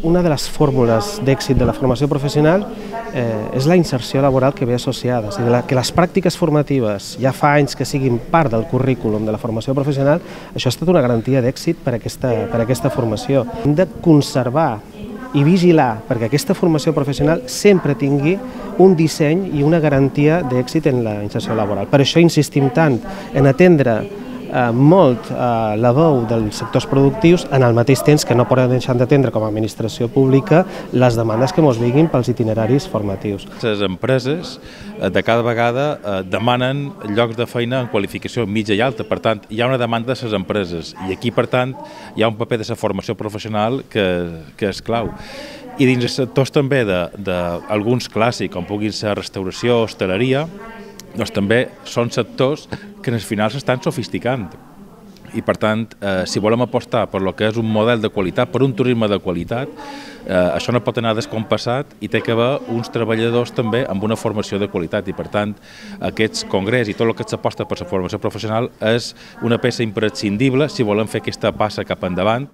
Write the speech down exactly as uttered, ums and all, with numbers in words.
una de les fórmules d'èxit de la formació professional eh, és la inserció laboral que ve associada. És a dir, que les pràctiques formatives ja fa anys que siguin part del currículum de la formació professional, això ha estat una garantia d'èxit per aquesta, per aquesta formació. Hem de conservar i vigilar perquè aquesta formació professional sempre tingui un disseny i una garantia d'èxit en la inserció laboral. Per això insistim tant en atendre eh, molt eh, la veu dels sectors productius, en el mateix temps que no podem deixar d'atendre com a administració pública les demandes que ens vinguin pels itineraris formatius. Les empreses eh, de cada vegada eh, demanen llocs de feina en qualificació mitja i alta, per tant, hi ha una demanda de les empreses i aquí, per tant, hi ha un paper de la formació professional que, que és clau. I dins els sectors també d'alguns clàssics, com puguin ser restauració, hostaleria, doncs també són sectors que en el final s'estan sofisticant. I per tant, eh, si volem apostar per lo que és un model de qualitat, per un turisme de qualitat, eh, això no pot anar descompassat i té que haver uns treballadors també amb una formació de qualitat. I per tant, aquests congrés i tot el que s'aposta per la formació professional és una peça imprescindible si volem fer aquesta passa cap endavant.